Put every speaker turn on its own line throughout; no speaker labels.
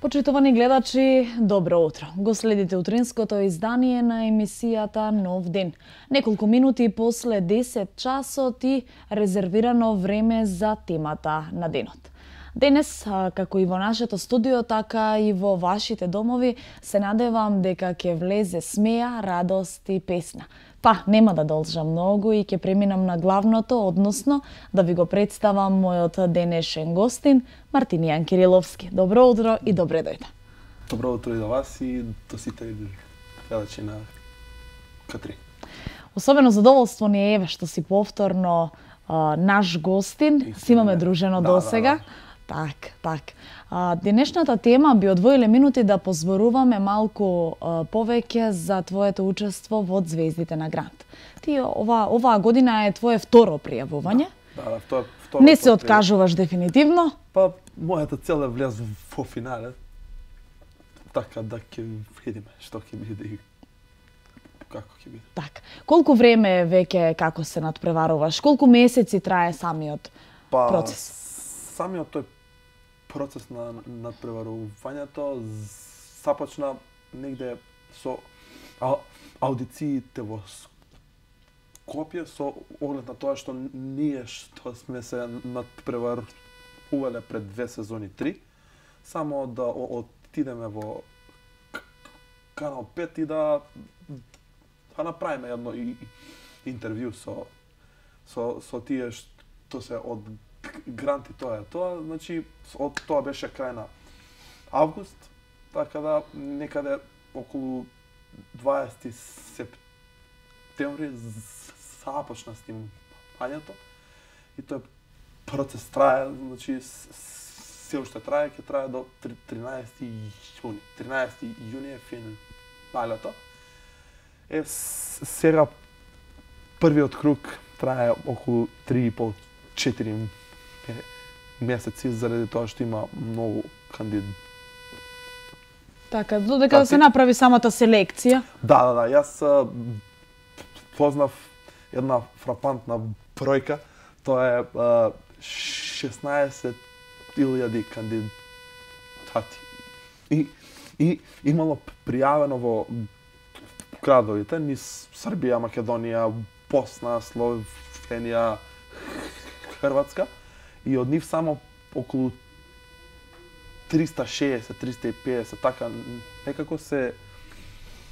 Почитувани гледачи, добро утро. Го следите утринското издание на емисијата Нов ден. Неколку минути после 10 часот и резервирано време за темата на денот. Денес, како и во нашето студио, така и во вашите домови, се надевам дека ќе влезе смеја, радост и песна. Па, нема да должам многу и ќе преминам на главното, односно да ви го представам мојот денешен гостин, Мартинијан Кириловски. Добро утро и добре дојде.
Добро утро и за вас и до сите гледачи на К3.
Особено задоволство ни е што си повторно наш гостин, си имаме дружено досега. Так. Денешната тема би одвоиле минути да позборуваме малку повеќе за твоето учество во Звездите на Грант. Ти оваа година е твое второ пријавување.
Да, второ.
Не се откажуваш дефинитивно.
Па, мојата цел е влез во финале. Така да ќе видиме што ќе биде и како ќе биде.
Так. Колку време веќе како се надпреваруваш? Колку месеци трае самиот процес?
Самиот тој процес на надпреварувањето започна негде со аудициите во Скопје, со оглед на тоа што ние што сме се надпреварувале пред 2 сезони 3, само да отидеме во Канал 5 и да направиме едно интервју со тие што се од Гранти, тоа, значи, од тоа беше крај на август, така да некаде околу 20 септември започна снимањето и тој процес трае, значи, се уште трае, ќе трае до 13 јуни. 13 јуни е финалето. Сега првиот круг трае околу 3,5-4 месеци заради тоа што има многу кандидати.
Така, додека да се направи самата селекција.
Да, јас познав една фрапантна бројка, тоа е 16,000 кандидати. И имало пријавено во градовите низ Србија, Македонија, Босна, Словенија, Хрватска, и од нив само околу 360-350 така некако се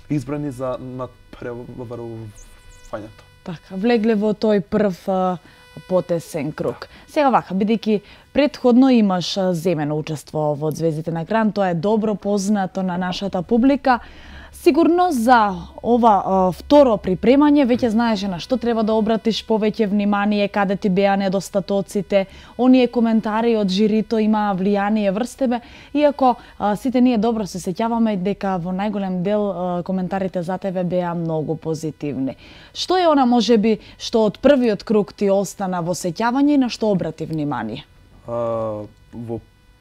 избрани за надпреварувањето.
Така, влегле во тој прв потесен круг. Сега вака, бидејќи претходно имаш земено учество во Звездите на Грант, тоа е добро познато на нашата публика. Сигурно за ова второ припремање веќе знаеше на што треба да обратиш повеќе внимание, каде ти беа недостатоците, оние коментари од жирито имаа влијание врз тебе, иако сите ние добро се сеќаваме дека во најголем дел коментарите за тебе беа многу позитивни. Што е она можеби што од првиот круг ти остана во сеќавање и на што обрати внимание?
Во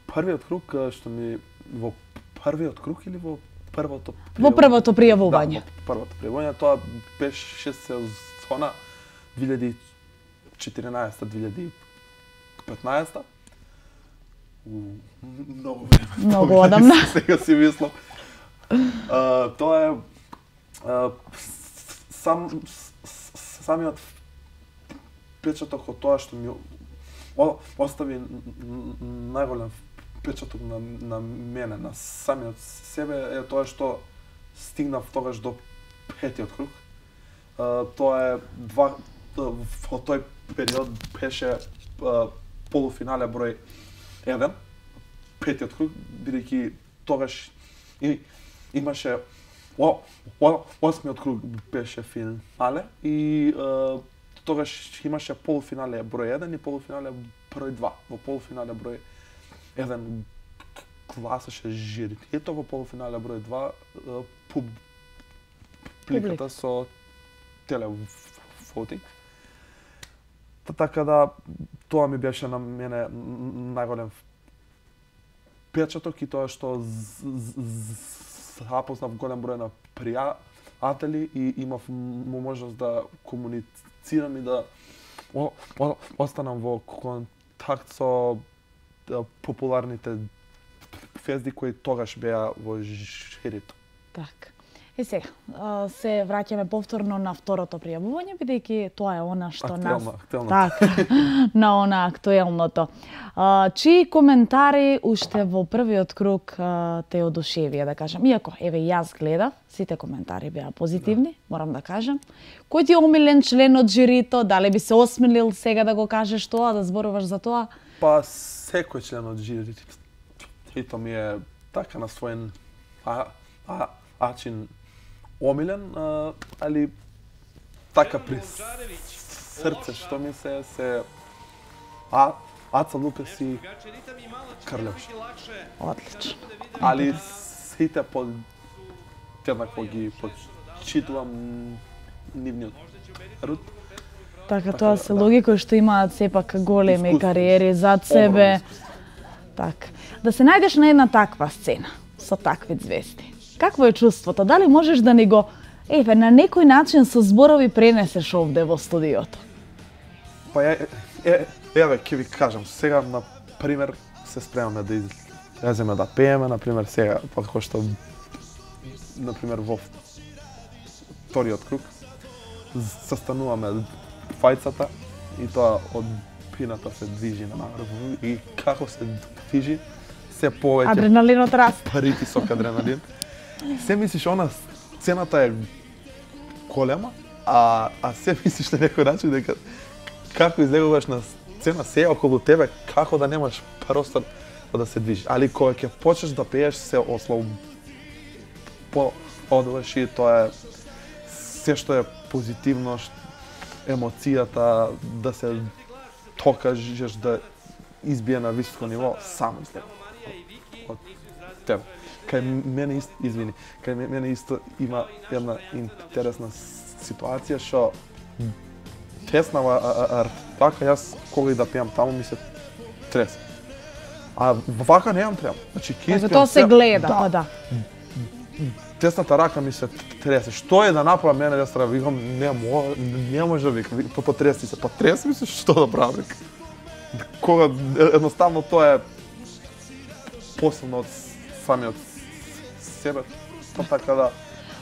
првиот круг во првиот круг или во првото
пријавување?
Да, во првото пријавување, тоа беше сезона 2014-2015. Многу време.
Многу одамна.
Сега си мислам. Тоа е самиот печаток од тоа што ми остави најголем печаток на мене, на самиот себе, е тоа што стигнав тогаш до петиот круг. Тоа е во тој период беше полуфинале број 1, петиот круг, бидејќи тогаш имаше осмиот круг беше финале и тогаш имаше полуфинале број 1 и полуфинале број 2. Во полуфинале број 1 гласаше жирито, во полуфинале број 2 публиката со телевотинг. Така да тоа ми беше на мене најголем печаток и тоа што запознав голем број на пријатели и имав можност да комуницирам и да останам во контакт со популарните звезди кои тогаш беа во жирито.
Така. И сега, се враќаме повторно на второто пријавување, бидејќи тоа е она што
актуелно.
Така, на она актуелното. Чии коментари уште во првиот круг те одушевија, да кажам? Иако, еве, јас гледав, сите коментари беа позитивни, морам да кажам. Кој ти е омилен член од жирито? Дали би се осмелил сега да го кажеш тоа, да зборуваш за тоа?
Па, секој член од жирито ми е така на свој начин омилен, али така при срце што ми се Аца Лукас и Карлевш.
Одлично.
Али сите еднакво ги почитувам нивниот труд.
Така, тоа се луѓе кои што имаат сепак големи кариери зад себе. Така. Да се најдеш на една таква сцена со такви звезди. Какво е чувството? Дали можеш да ни го, на некој начин со зборови пренесеш овде во студиото?
Па еве, ќе ви кажам, сега, на пример, се спремаме да излеземе да пееме, на пример, сега, како што, на пример, во вториот круг, застануваме фајцата и тоа од пината се движи на наврв. И како се движи, се повеќе
адреналинот расте.
Притисок адреналин. Се мислиш, она сцената е голема, а се мислиш на некој начин дека како излегуваш на сцена, се околу тебе, како да немаш простор да се движиш. Али кога ќе почнеш да пееш, се ослободуваш и тоа е се што е позитивно, емоцијата, да се докажеш, да избие на високо ниво, само излегува од тебе. Кај мене исто има една интересна ситуација што теснава така, јас кога и да пеам таму ми се тресе. А вака немам треба. Значи ќе
тоа се гледа, па да.
Тесната рака ми се тресе. Што е да направам мене да стара, викам не може да викам, потреси се, па треси ми се, што да правам? Кога едноставно тоа е посилно од самиот себе, па така да.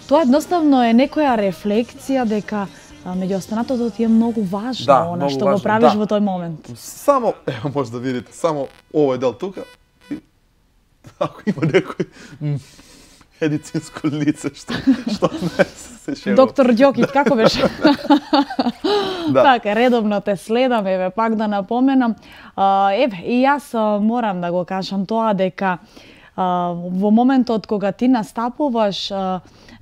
Тоа
едноставно е некоја рефлексија дека меѓу останатото ти е многу важно, она што го правиш во тој момент.
Само, ево може да видите, само овој дел тука, ако има некој медицинско лице што не се шегува.
Доктор Ѓокиќ, како беше? Така, редовно те следам, еве, пак да напоменам. Еве, и јас морам да го кажам тоа дека во моментот кога ти настапуваш,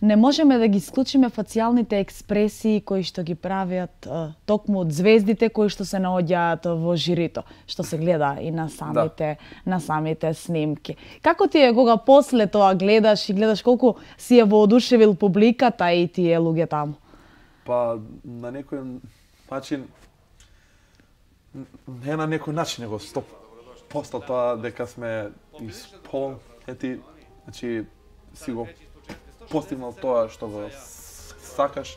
не можеме да ги исклучиме фацијалните експресии кои што ги правят токму од звездите кои што се наоѓаат во жирито, што се гледа и на самите снимки. Како ти е кога после тоа гледаш и гледаш колку си е воодушевил публиката и тие луѓе таму?
Па на некој начин не на некој начин, него 100% тоа дека сме исполнети, значи си го постигнал тоа што го сакаш,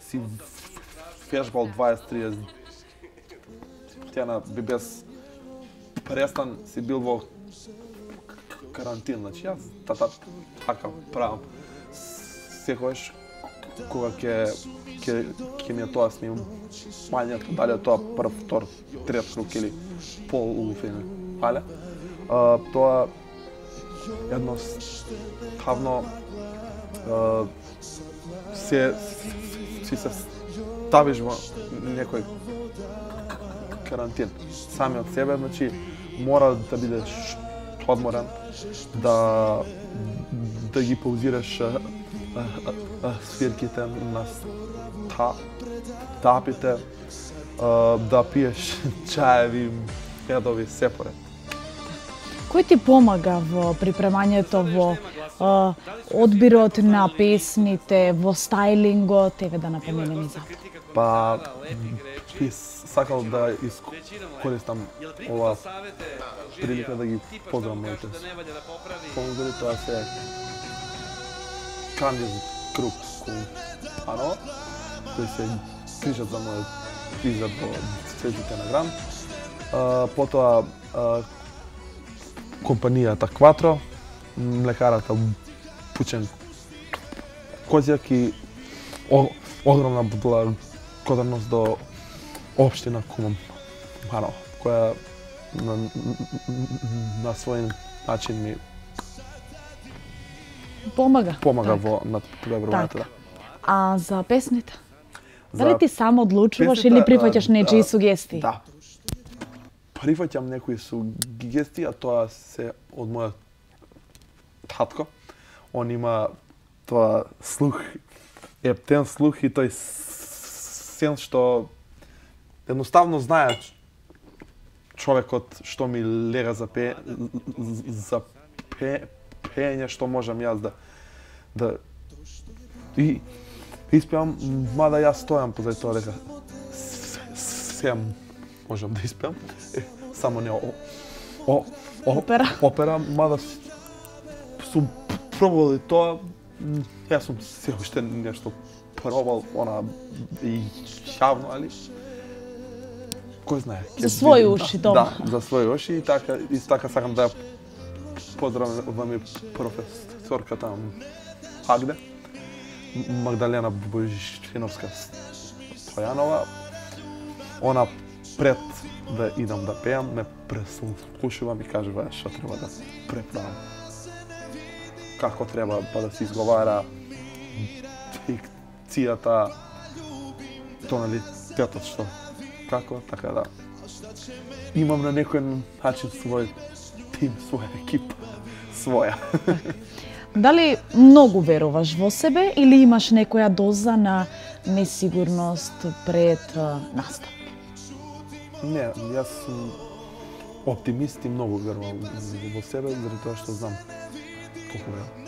си фешбал 20-30 тена без престан, си бил во карантин, значи јас така правам. Секогаш кога ќе ми е тоа снимањето, дали е тоа прв, втор, трет круг или полуфинале, тоа едноставно си се ставиш во некој карантин сами од себе, значи мора да бидеш одморен, да ги паузираш свирките на тапите, да пиеш чаеви, јадови, се поред.
Кој ти помага во припремањето, во одбирот на песните, во стајлингот, еве да напоменеме за тоа?
Па, би сакал да искористам ова прилика да ги поздравам моите спонзори, тоа се Кандис Груп Компано, кои се грижат за мојот изглед во светите на Гран. Потоа компанијата Кватро, млекарата Пучен Козјак и огромна благодарност до општина Куманово, која на свој начин ми
помага
во напредувањето.
А за песните? Дали ти сам одлучуваш или прифаќаш нечии сугестии?
Да. Прифаќам некои сугестии, а тоа се од мојот татко. Он има тоа слух, ептен слух и тој сен што едноставно знае човекот што ми лега за пеење, што можам јас да и испеам, мада јас стојам позади тоа дека се можам да испеам, само не опера, мада сум пробувал и тоа, јас сум се уште нешто пробал, она јавно, али кој знае.
За своји уши, дома.
Да, за своји уши и така сакам да поздравам и професорката Агде, Магдалена Божиновска Стојанова. Она пред да идам да пеам, ме преслушува и кажува што треба да преправам. Како треба да се изговара дикцијата, тоналитетот што како, така да имам на некој начин свој тим, своја екипа, своја.
Дали многу веруваш во себе или имаш некоја доза на несигурност пред настап?
Не, јас сум оптимист и многу верувам во себе, заради тоа што знам колку верувам.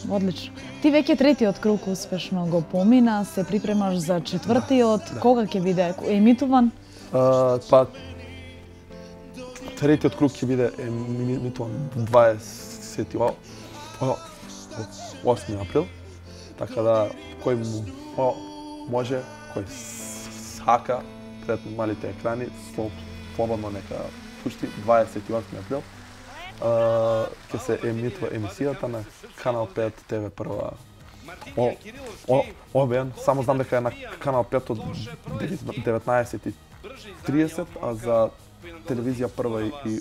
Одлично. Ти веќе третиот круг успешно го помина, се припремаш за четвртиот,
Да.
Кога ќе биде емитуван?
Па третиот круг ќе биде емитуван 28 април, така да кој може, кој сака пред малите екрани, слободно нека пушти 28 април. Ќе се емитува емисијата на Канал 5 ТВ прва ОБН. Само знам дека е на Канал 5 од 19:30, а за телевизија прва и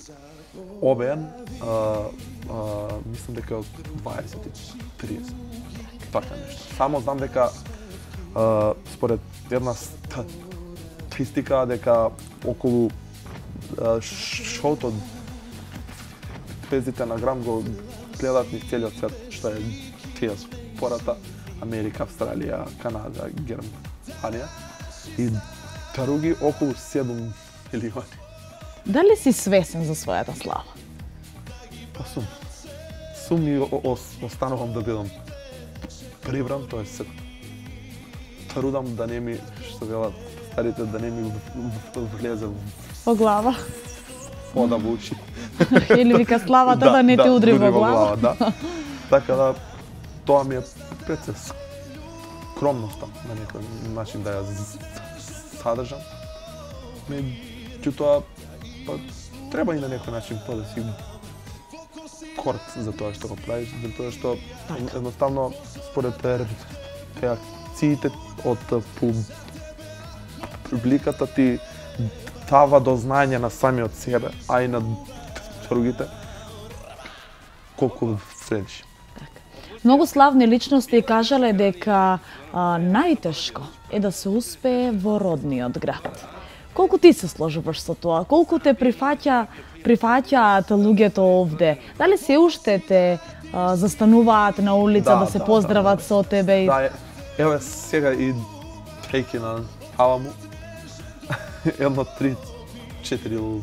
ОБН мислам дека е од 20:30. Така нешто. Само знам дека според една статистика дека околу шоуто звездите на Грам го гледаат низ целиот свет, што е диаспората, Америка, Австралија, Канада, Германија и други околу 7 милиони.
Дали си свесен за својата слава?
Па сум и останувам да бидам прибран, тоа се трудам да не ми, што велат старите, да не ми влезе
Во глава?
вода во уши.
Или вика славата да не те удри во глава?
Да. Така да, тоа ми е пред се скромноста на некој начин да ја задржам. Меѓутоа, па, треба и на некој начин тоа да си корт за тоа што го правиш, за тоа што едноставно според реакциите од публиката ти дава до знаење на самиот себе, а и на другите колку вредиш.
Многу славни личности кажале дека најтешко е да се успее во родниот град. Колку ти се сложуваш со тоа? Колку те прифаќаат луѓето овде? Дали се уште те застануваат на улица да се поздрават со тебе?
Да, еве сега и трејки на Аламу. едно 3-4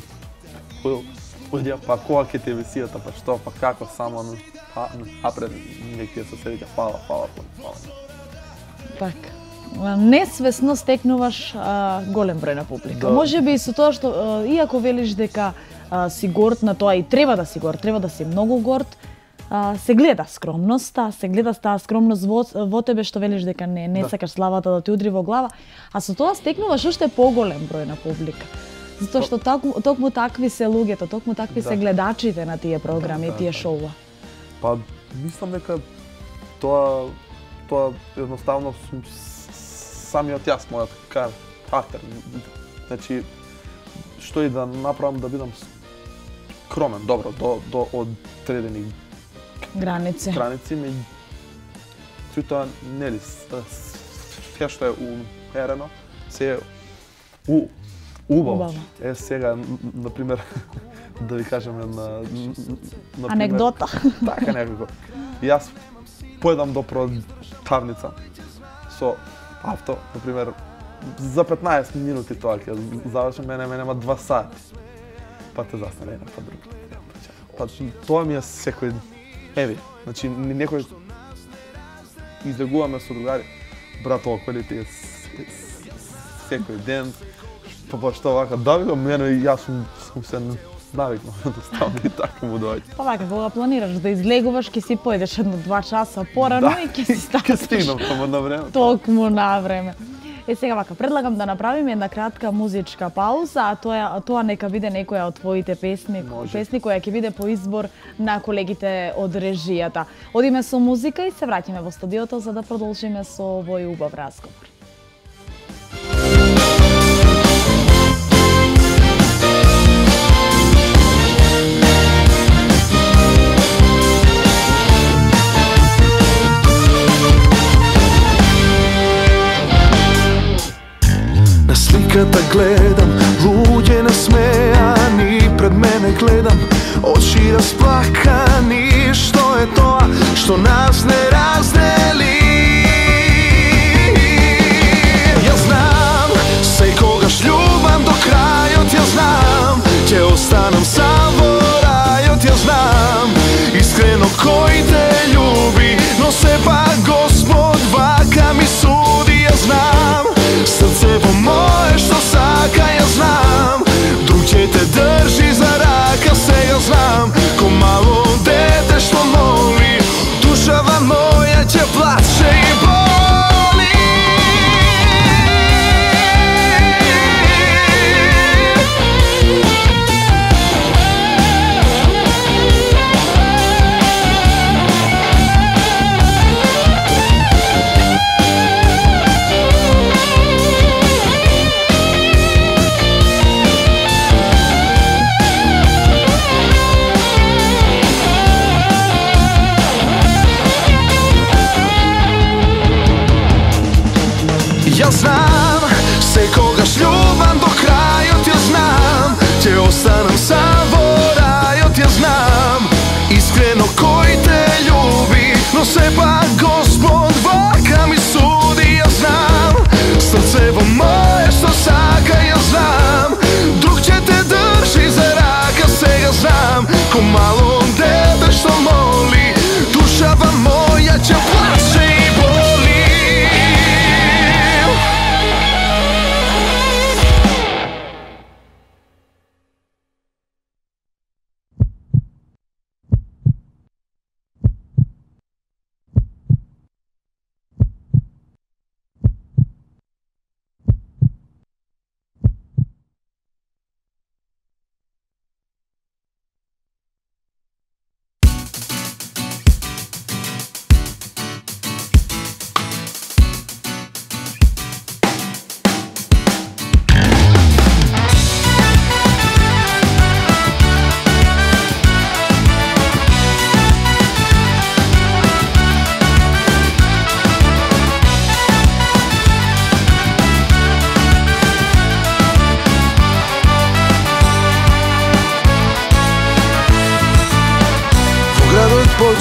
луѓе, па кога ќе ти емисијата, па што, па како, само напред некој се седи, фала.
Така. Несвесно стекнуваш голем број на публика. Да. Може би со тоа што, иако велиш дека си горд на тоа и треба да си горд, треба да си многу горд, се гледа скромноста, се гледа таа скромност во тебе што велиш дека не сакаш славата да ти удри во глава, а со тоа стекнуваш уште поголем број на публика. Затоа што токму такви се луѓето, токму такви се гледачите на тие програми, тие шоуа.
Па мислам дека тоа едноставно самиот јас, мојот карактер. Значи, што и да направам да бидам скромен, добро, до одредени
граници,
меѓутоа, нели, се што е умерено, се е убаво. Сега, например, да ви кажеме
анекдота.
Така некако. Јас појдам до продавница со авто, например, за 15 минути тоа ќе завршам, мене нема 2 сати. Па те застане една па друга. Па тоа ми е секој еви, значи некој излегуваме со другари, брат, околи ти е секој ден, па што вака, да го мене и јас сум се навикнал да ставам и така му доаѓа.
Па вака, кога планираш да излегуваш, ќе си појдеш 1-2 часа порано и ќе си ставаш.
Ќе стигнам само на време.
Токму на време. Сега вака, предлагам да направиме една кратка музичка пауза, а тоа нека биде некоја од твоите песни која ќе биде по избор на колегите од режијата. Одиме со музика и се враќаме во студиото за да продолжиме со овој убав разговор.
Сликата гледам, луѓе насмејани, пред мене гледам, очи расплакани. Што е тоа што нас не раздели? Јас знам, секогаш љубам до крајот, јас знам, ќе останам сам во рајот, јас знам, искрено кој те љуби, но сепак Господ вака ми суди, јас знам. Срцево мое што сака, јас знам, друг ќе те држи за рака, сега знам, ко мало дете што моли, душава моја ќе плаче и боли. Јас знам, секогаш љубам до крајот, јас знам, ќе останам сам во рајот, јас знам, искрено кој те љуби, но сепак Господ вака ми суди, јас знам, срцево мое што сака, јас знам, друг ќе те држи за рака, сега знам, ко мало дете што моли, душава моја ќе плаче и боли.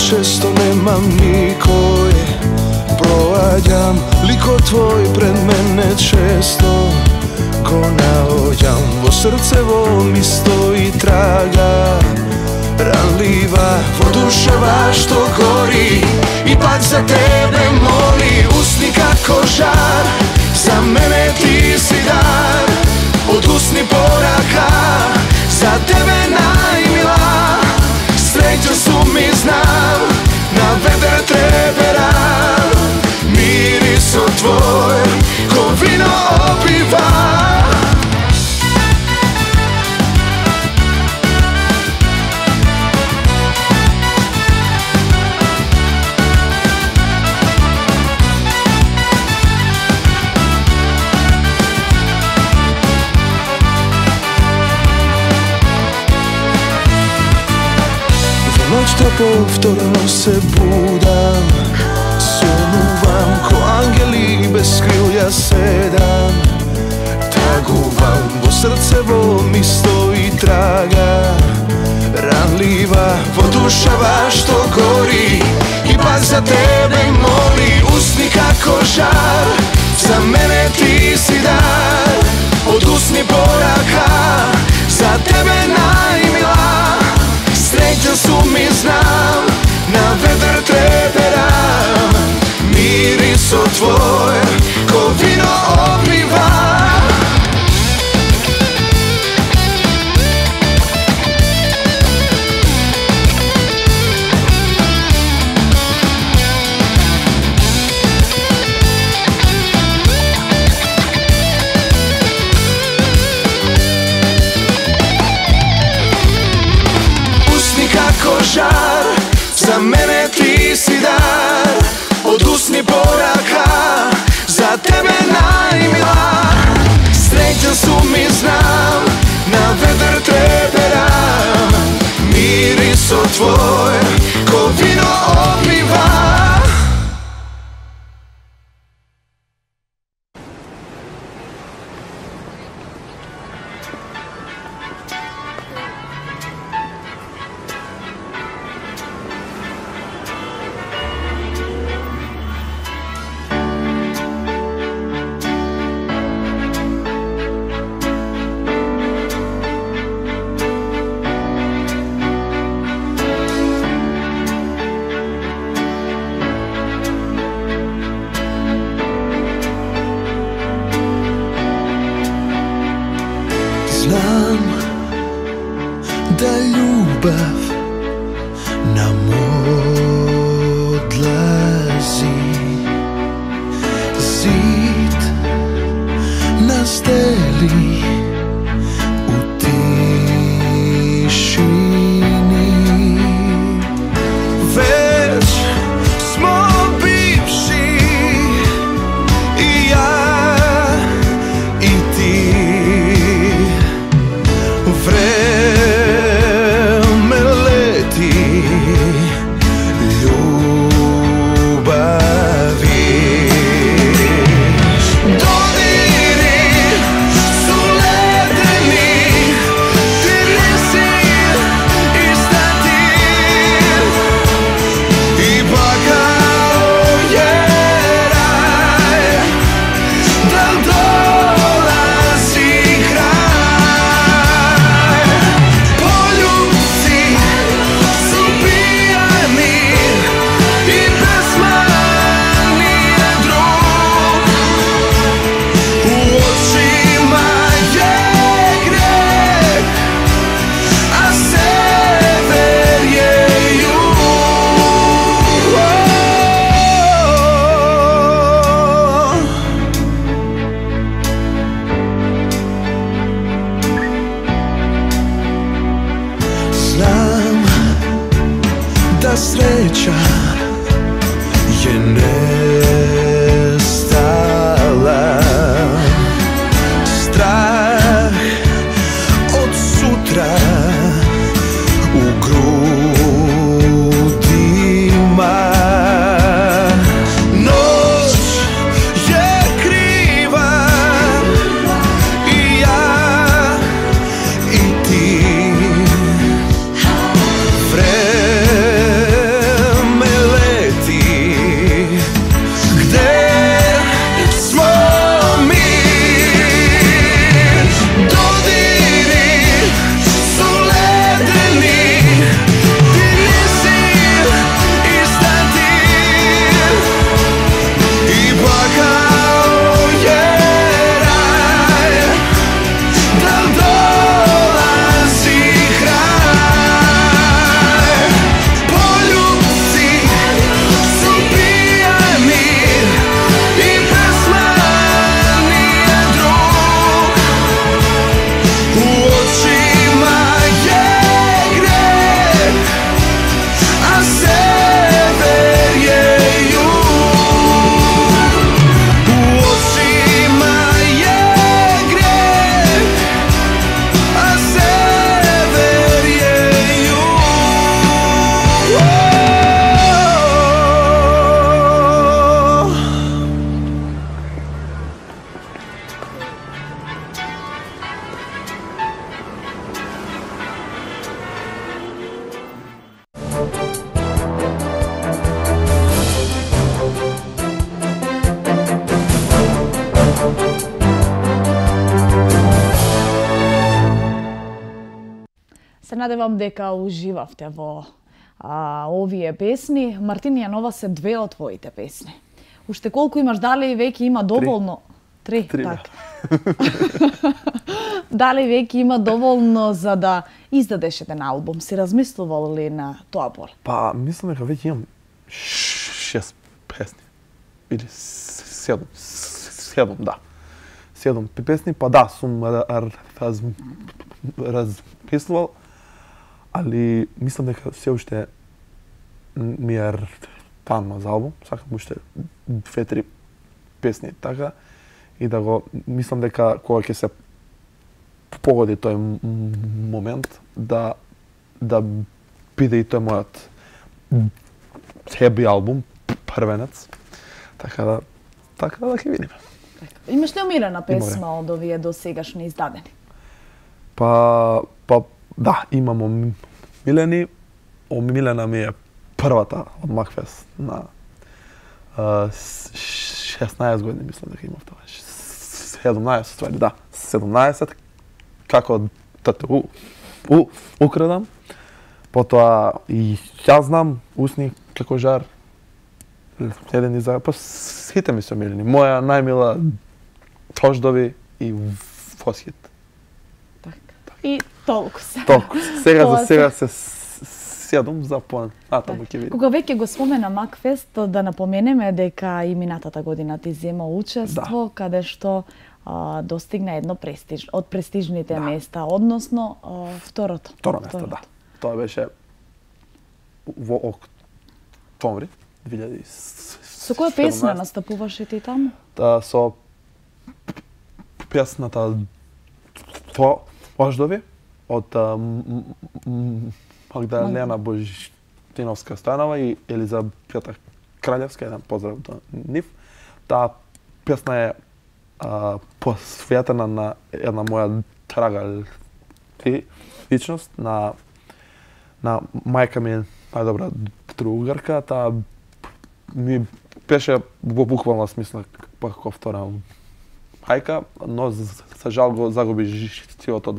Често немам никој, проаѓам ликот твој пред мене често, ко на срцево ми стои трага ранлива во душева што гори и пак за тебе моли. Усни како жар, за мене ти си дар, од усни порака, за тебе најмила. Среќен сум ми знам, на ветер треперам, мирисот твој ко вино опива. Ноќта повторно се будам, сонувам ко ангели без крилја седам. Тагувам во срцево ми стои трага ранлива во душава што гори и пак за тебе моли. Усни како жар, за мене ти си дар, од усни порака, за тебе најмила. Среќен сум и знам, на ветер треперам, мирисот твој ко вино опива. Жар, за мене ти си дар, од усни порака, за тебе најмила. Среќен сум и знам, на ветер треперам, мирисот твој ко вино опива. Знам да љубов нам одлази, зид нас дели у тишини. Веќе смо бивши и ја и ти. Време
се надевам дека уживавте во овие песни. Мартинија Нова се две од твоите песни. Уште колку имаш, дали веќе има доволно? Три, така. Дали веќе има доволно за да издадеш еден албум? Си размислувал ли на тоа поле?
Па, мислам дека веќе имам 6 песни. Или 7, да. 7 песни, па да, сум размислувал, али мислам дека се уште ми е рано за албум, сакам уште 2-3 песни така, и да го мислам дека кога ќе се погоди тој момент да биде и тој мојот heavy албум, првенец, така да ќе видиме.
Имаш ли омилена песма од овие до сегашни издадени?
Па да, имам омилени. Омилена ми е првата од Макфест на 16 години, мислам дека имав тоа. 17 ствари, да. 17, како тату украдам. Потоа и јас знам, усни како жар. Еден иза, па сите ми се омилени. Моја најмила Тождови и Фосхит.
Така. И толку се.
Толку. Сега се седум за понатаму ќе видим.
Кога веќе го спомена Макфест, да напоменеме дека и минатата година ти зема учество, каде што достигна едно од престижните места, односно второто.
Второ место, да. Тоа беше во октомври 2017.
Со која песна настапуваше ти таму?
Со песната Тождови од Магдалена Божиновска-Станова и Елизабета Краљевска, еден поздрав до нив. Таа песна е посветена на една моја драга личност, на мајка ми, најдобра другарка. Таа ми беше во буквална смисла како втора мајка, но за жал го загуби животот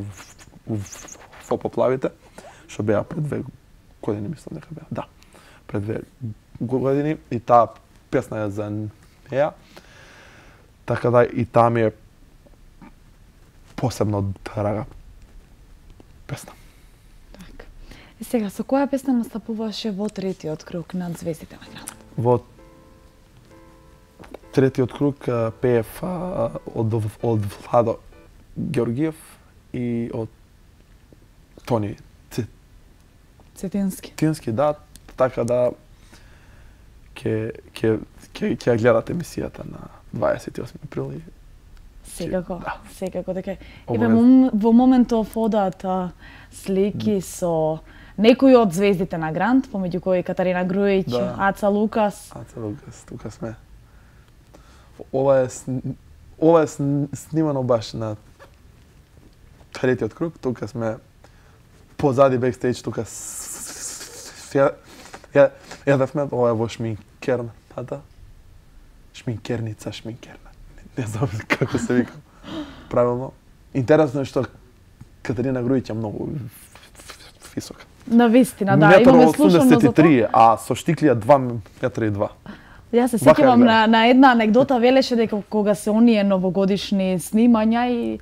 во поплавите, што беа пред 2 години, мислам дека беа. Да, пред 2 години, и таа песна е за неа. Така да и таа ми е посебно драга песна.
Така. И сега, со која песна настапуваше во третиот круг над звездите на град?
Во третиот круг пеев од Владо Георгиев и од Тони Цетински, да, така да ќе гледате емисијата на 28 април.
Секако,
да.
Секако дека. Еве во моментов одат слики со некои од звездите на Грант, помеѓу кои Катарина Груевиќ,
да.
Аца Лукас,
тука сме. Ова е снимано баш на третиот круг, тука сме позади бекстејдж, тука едавме, ова е во шминкерната. Шминкерница. Не знам како се вика правилно. Интересно е што Катерина Груевиќ е многу висока.
Навистина, да, имаме слушано за тоа.
А со штиклија 2,2 м.
Јас се сеќавам на една анегдота, велеше дека кога се оние новогодишни снимања и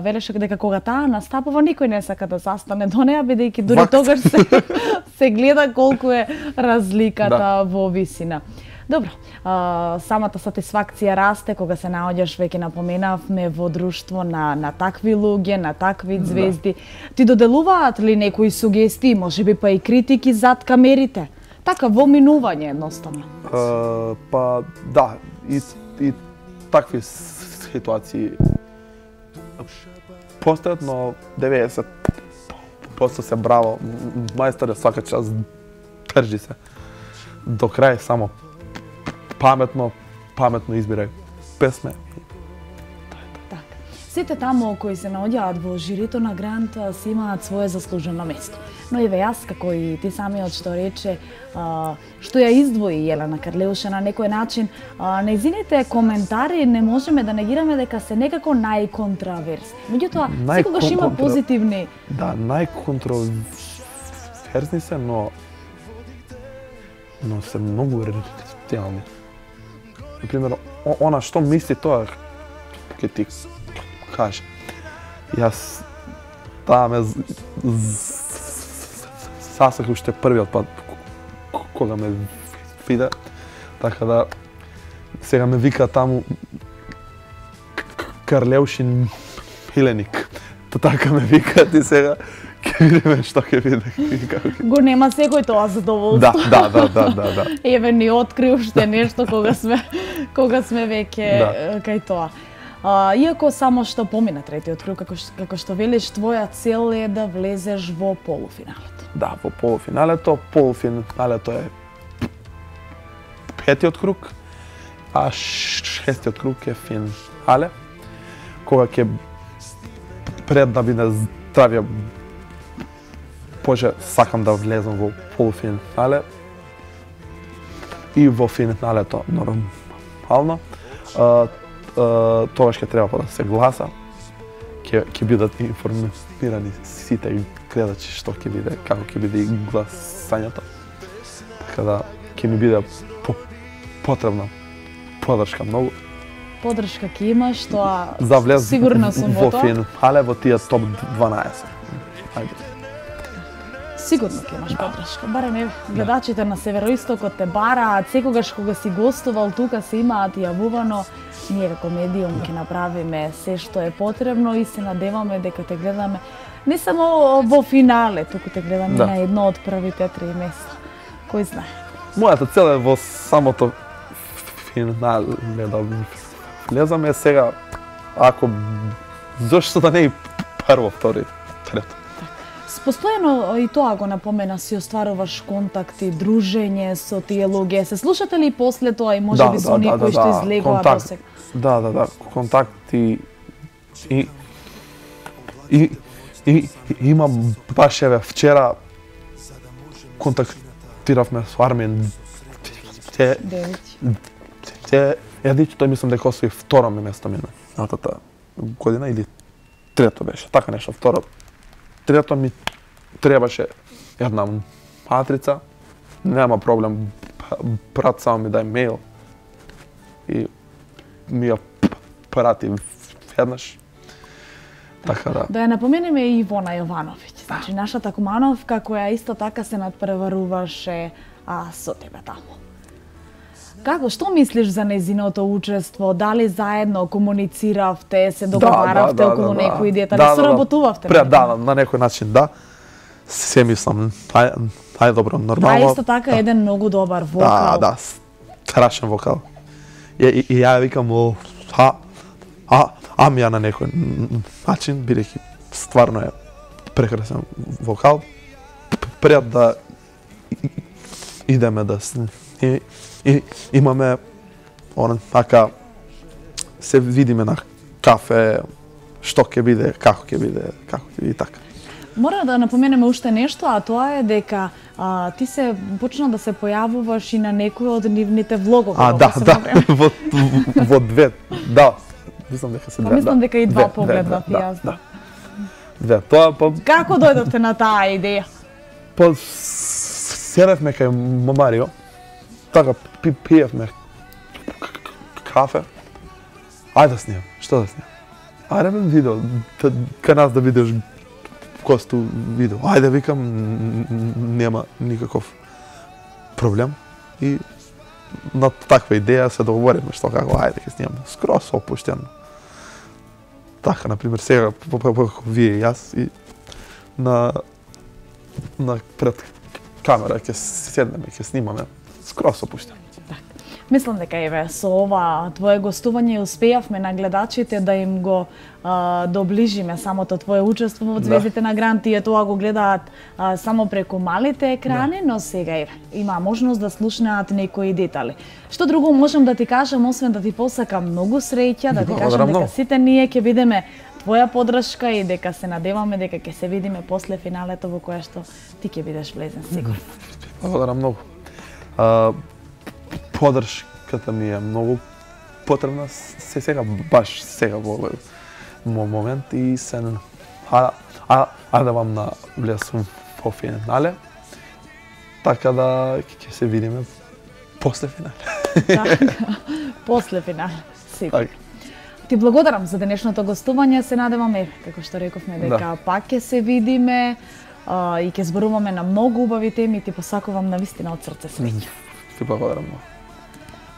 велеше дека кога таа настапува никој не сака да застане до неа, бидејќи дури тогаш се гледа колку е разликата во висина. Добро, самата сатисфакција расте кога се наоѓаш, веќе напоменавме, во друштво на такви луѓе, на такви звезди. Ти доделуваат ли некои сугестии, можеби па и критики зад камерите? Така, во минување едноставно.
Па да, и такви ситуации постојат, но 90% се браво. Мајсторе, свака час држи се до крај, само паметно избирај песме.
Сите таму кои се наоѓаат во жирито на Грант си имаат свое заслужено место. Но еве јас, како и ти самиот што рече, што ја издвои Јелена Карлеуша на некој начин, нејзините коментари не можеме да негираме дека се некако најконтраверсни. Меѓутоа, секогаш има позитивни...
Да, најконтраверсни се, но се многу реални. Например, она што мисли тоа, ќе ти каже. Јас таа ме сасак уште првиот пат кога ме виде, така да сега ме вика таму Карлеушин миленик. Така ме викаат и сега ќе видиме што ќе биде.
Го нема секој тоа задоволство.
Да.
Еве ни откри уште нешто кога сме веќе кај тоа. Иако само што помина третиот круг, како што велиш, твоја цел е да влезеш во полуфиналето.
Да, во полуфиналето. Полуфиналето е петиот круг, а шестиот круг е финале, кога ќе пред да биде здравје, Боже, сакам да влезам во полуфинале и во финалето нормално. Тогаш ќе треба да се гласа, ќе бидат информирани сите гледачи што ќе биде, како ќе биде и гласањето. Така да ќе ми биде потребна подршка многу.
Подршка ќе имаш, тоа
за влез
сигурна сум во тоа.
Во финале во тие топ 12. Ајде.
Сигурно ќе имаш подршка. Барем еве гледачите на Североистокот те бараат, секогаш кога си гостувал тука се имаат јавувано. Ние како медиум ќе направиме се што е потребно и се надеваме дека те гледаме не само во финале, туку те гледаме на едно од првите 3 места. Кој знае.
Мојата цел е во самото финале да влезаме сега, ако зашто да не и прво, втори, трето.
Постојано и тоа го напомена, си остваруваш контакти, дружење со тие луѓе. Се слушате ли после тоа и можеби со некои што излегува до сега?
Да, контакти и имам баш еве вчера контактиравме со Армин Едич, тој мислам дека освои второ место минатата година или трето беше, така нешто, второ. Трето ми требаше една матрица, нема проблем, брат само ми дај мејл и ми ја прати веднаш. Така да.
Да ја напоменеме и Ивона Јовановиќ, значи нашата кумановка која исто така се надпреваруваше со тебе таму. Како, што мислиш за нејзиното учество? Дали заедно комунициравте, се договаравте околу некои детали, соработувавте?
Да, на некој начин да. Се мислам најдобро, нормално.
А исто така еден многу добар вокал.
Да, страшен вокал. И ја викам, ами ја на некој начин, бидејќи стварно е прекрасен вокал. Пред да идеме да и имаме така се видиме на кафе, што ќе биде, како ќе биде и така.
Мора да напоменеме уште нешто, а тоа е дека ти се почна да се појавуваш и на некои од нивните влогови.
Во две, да. Мислам дека се две.
Мислам дека и два погледнав и јас.
Две, тоа
Како дојдовте на таа идеја?
Седевме кај Марио, така пиевме кафе. Ајде да снимам, што да снимам? Ајде бе видео, кај нас да видиш госту видео. Ајде викам, нема никаков проблем. И на таква идеја се договориме што како ајде ќе снимаме. Скрос опуштено. Така, например, сега вие и јас и на пред камера ќе седнеме, ќе снимаме. Скрос опуштено.
Мислам дека еве со ова твое гостување успеавме на гледачите да им го доближиме самото твое учество во Звездите на Грант. Тие тоа го гледаат само преку малите екрани, но сега еве има можност да слушнеат некои детали. Што друго можам да ти кажам освен да ти посакам многу среќа, да ти кажам дека сите ние ќе бидеме твоја поддршка и дека се надеваме дека ќе се видиме после финалето во кое што ти ќе бидеш влезен сигурно.
Благодарам многу. Поддршката ми е многу потребна сега, баш сега во овој момент и се надевам на влез во финале, така да ќе се видиме после финале.
Така, после финале, сигурно.
Така.
Ти благодарам за денешното гостување, се надеваме, како што рековме, дека пак ќе се видиме и ќе зборуваме на многу убави теми, ти посакувам навистина од срце среќа.
Ти благодарам многу.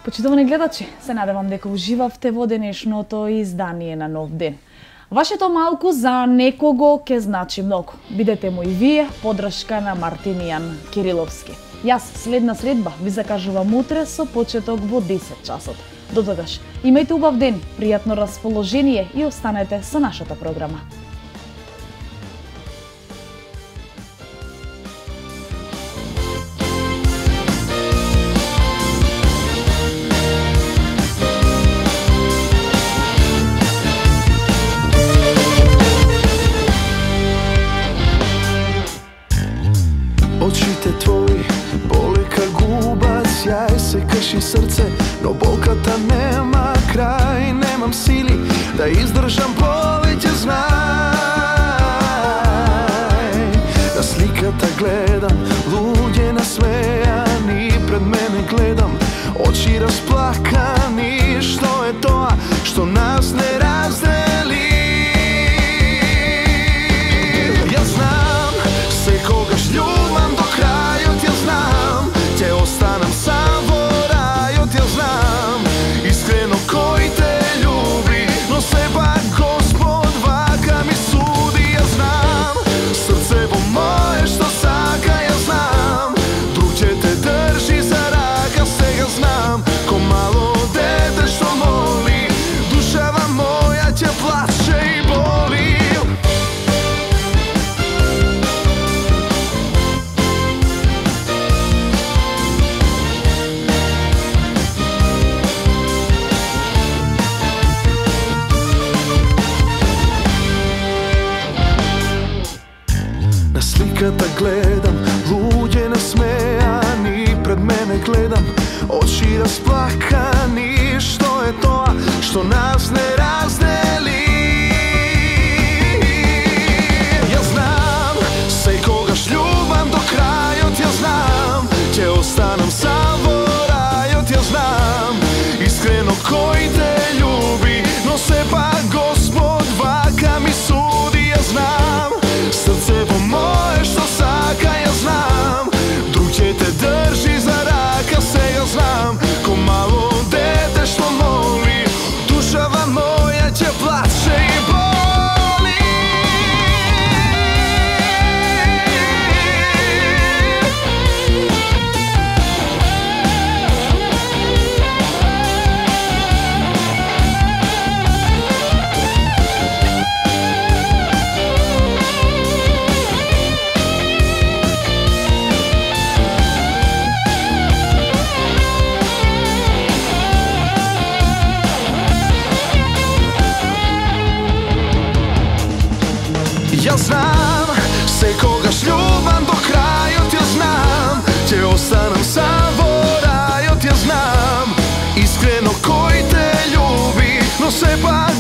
Почитувани гледачи, се надевам дека уживавте во денешното издание на Нов ден. Вашето малку за некого ќе значи многу. Бидете му и вие поддршка на Мартинијан Кириловски. Јас следна средба ви закажувам утре со почеток во 10 часот. До тогаш, имајте убав ден, пријатно расположение и останете со нашата програма.
Очите твои боле ка губа, сјај се крши срце, но болката нема крај, немам сили да издржам повеќе, знај. На сликата гледам, луѓе насмејани, пред мене гледам, очи расплакани, што е тоа што нас не раздели? Јас знам, секогаш љубам до крајот, ја знам, ќе останам сам во рајот, ја знам, искрено кој те љуби, но сепак Господ вака ми суди, ја знам, срцево мое што сака, ја знам, друг ќе те држи за рака, сега знам, ко мало дете што моли, душава моја ќе плаче и боли. На сликата гледам, луѓе насмејани, пред мене гледам, очи расплакани, што е тоа што нас не раздели? Ја знам, секогаш љубам до крајот, ја знам, ќе останам сам во рајот, ја знам, искрено кој те љуби, но сепак Господ вака ми суди, ја знам, срцево мое што сака, ја знам, друг ќе те држи за рака, сега знам, ко мало дете што моли, душава моја ќе плаче и боли. Ја знам, секогаш љубам до крајот, ја знам, ќе останам сам во рајот, ја знам, искрено кој те љуби, но сепак